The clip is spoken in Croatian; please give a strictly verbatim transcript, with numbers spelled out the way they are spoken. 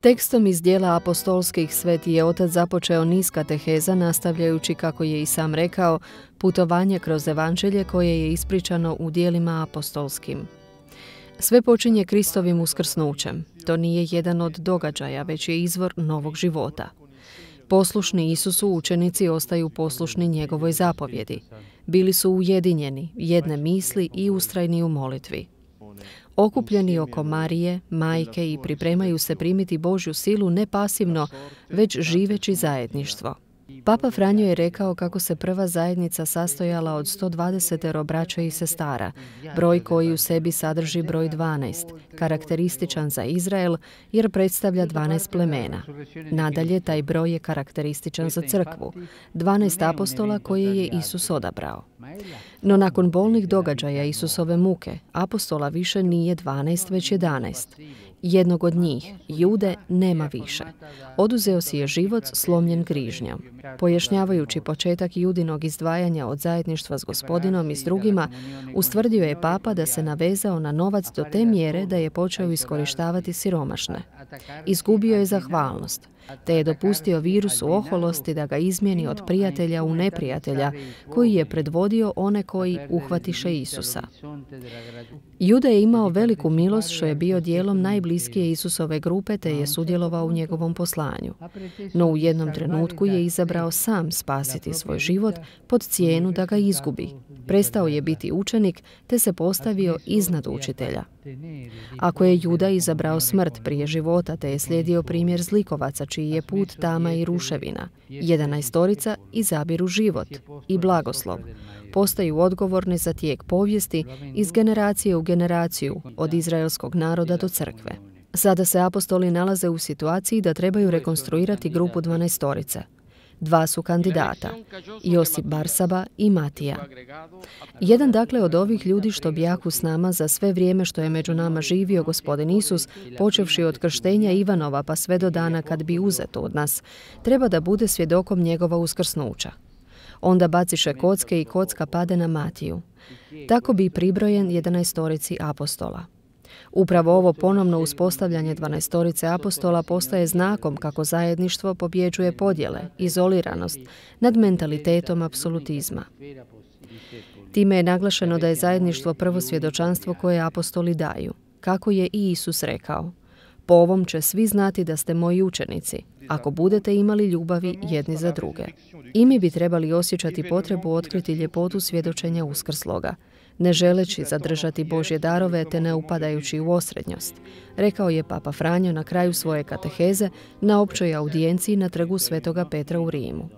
Tekstom iz dijela apostolskih Sveti je otac započeo niz kateheza nastavljajući, kako je i sam rekao, putovanje kroz evanđelje koje je ispričano u dijelima apostolskim. Sve počinje Kristovim uskrsnućem. To nije jedan od događaja, već je izvor novog života. Poslušni Isusu učenici ostaju poslušni njegovoj zapovjedi. Bili su ujedinjeni, jedne misli i ustrajni u molitvi. Okupljeni oko Marije, majke, i pripremaju se primiti Božju silu ne pasivno, već živeći zajedništvo. Papa Franjo je rekao kako se prva zajednica sastojala od sto dvadeset braća i sestara, broj koji u sebi sadrži broj dvanaest, karakterističan za Izrael jer predstavlja dvanaest plemena. Nadalje, taj broj je karakterističan za crkvu, dvanaest apostola koje je Isus odabrao. No nakon bolnih događaja Isusove muke, apostola više nije dvanaest, već jedanaest. Jednog od njih, Jude, nema više. Oduzeo si je život slomljen grižnjom. Pojašnjavajući početak Judinog izdvajanja od zajedništva s Gospodinom i s drugima, ustvrdio je papa da se navezao na novac do te mjere da je počeo iskorištavati siromašne. Izgubio je zahvalnost, te je dopustio virusu oholosti da ga izmijeni od prijatelja u neprijatelja, koji je predvodio one koji uhvatiše Isusa. Juda je imao veliku milost što je bio dijelom najbliskije Isusove grupe te je sudjelovao u njegovom poslanju. No u jednom trenutku je izabrao sam spasiti svoj život pod cijenu da ga izgubi. Prestao je biti učenik te se postavio iznad učitelja. Ako je Juda izabrao smrt prije života te je slijedio primjer zlikovaca čiji je put tama i ruševina, jedanaestorica izabiru život i blagoslov. Postaju odgovorni za tijek povijesti iz generacije u generaciju, od izraelskog naroda do crkve. Sada se apostoli nalaze u situaciji da trebaju rekonstruirati grupu dvanaestorice. Dva su kandidata, Josip Barsaba i Matija. Jedan dakle od ovih ljudi što bijahu s nama za sve vrijeme što je među nama živio Gospodin Isus, počevši od krštenja Ivanova pa sve do dana kad bi uzeto od nas, treba da bude svjedokom njegova uskrsnuća. Onda baciše kocke i kocka pade na Matiju. Tako bi pribrojen jedanaestorici apostola. Upravo ovo ponovno uspostavljanje dvanaestorice apostola postaje znakom kako zajedništvo pobjeđuje podjele, izoliranost nad mentalitetom apsolutizma. Time je naglašeno da je zajedništvo prvo svjedočanstvo koje apostoli daju, kako je i Isus rekao: po ovom će svi znati da ste moji učenici, ako budete imali ljubavi jedni za druge. I mi bi trebali osjećati potrebu otkriti ljepotu svjedočenja uskrsloga, ne želeći zadržati Božje darove te ne upadajući u osrednjost, rekao je Papa Franjo na kraju svoje kateheze na općoj audijenciji na trgu Svetoga Petra u Rimu.